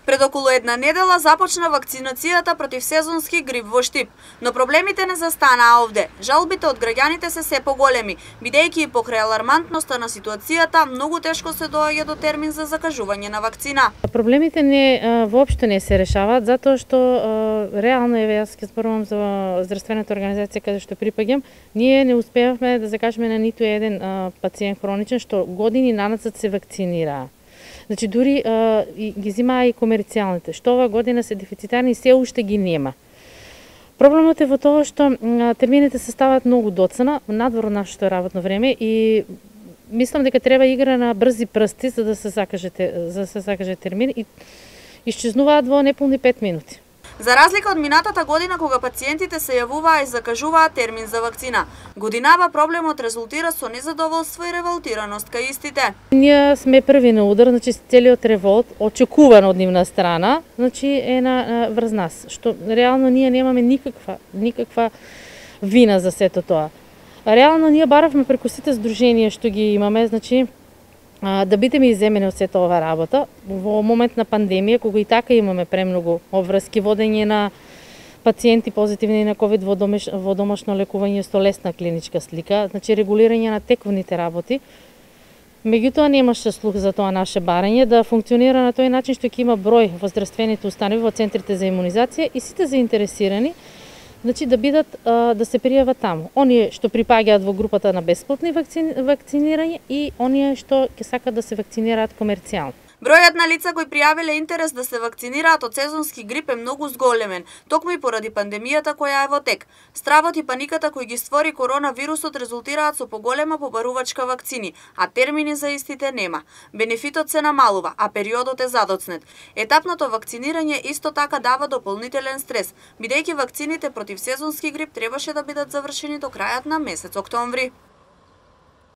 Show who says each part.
Speaker 1: Пред околу една недела започна вакцинацијата против сезонски грип во Штип, но проблемите не застанаа овде. Жалбите од граѓаните се поголеми, бидејќи и покрај алармантноста на ситуацијата многу тешко се доаѓа до термин за закажување на вакцина.
Speaker 2: Проблемите воопшто не се решаваат затоа што реално јас ќе зборувам за здравствената организација каде што припаѓам, ние не успеавме да закажеме на ниту еден пациент хроничен што години нанацат се вакцинираа. Значи дури ги зимаа и комерцијалните, што ова година се дефицитарни и се уште ги нема. Проблемот е во тоа што термините се ставаат многу доцна, надвор од нашето работно време и мислам дека треба игра на брзи прсти за да се закаже термин и исчезнуваат во неполни 5 минути.
Speaker 1: За разлика од минатата година кога пациентите се јавуваа и закажуваа термин за вакцина, годинава проблемот резултира со незадоволство и револтираност кај истите.
Speaker 2: Ние сме први на удар, значи целиот револт очекуван од нивна страна, значи е врз нас, што реално ние немаме никаква вина за сето тоа. Реално ние баравме преку сите здруженија што ги имаме, значи да бидеме иземени од сета ова работа во момент на пандемија, кога и така имаме премногу обврски, водење на пациенти позитивни на ковид во домашно лекување со лесна клиничка слика, значи регулирање на тековните работи. Меѓутоа немаше слух за тоа наше барање да функционира на тој начин што ќе има број во здравствените установи, во центрите за имунизација и сите заинтересирани, значи да бидат да се пријават таму. Оние што припаѓаат во групата на бесплатни вакцинирање и оние што ќе сакат да се вакцинираат комерцијално.
Speaker 1: Бројот на лица кои пријавиле интерес да се вакцинираат од сезонски грип е многу зголемен, токму и поради пандемијата која е во тек. Стравот и паниката кои ги створи коронавирусот резултираат со поголема побарувачка вакцини, а термини за истите нема. Бенефитот се намалува, а периодот е задоцнет. Етапното вакцинирање исто така дава дополнителен стрес, бидејќи вакцините против сезонски грип требаше да бидат завршени до крајот на месец октомври.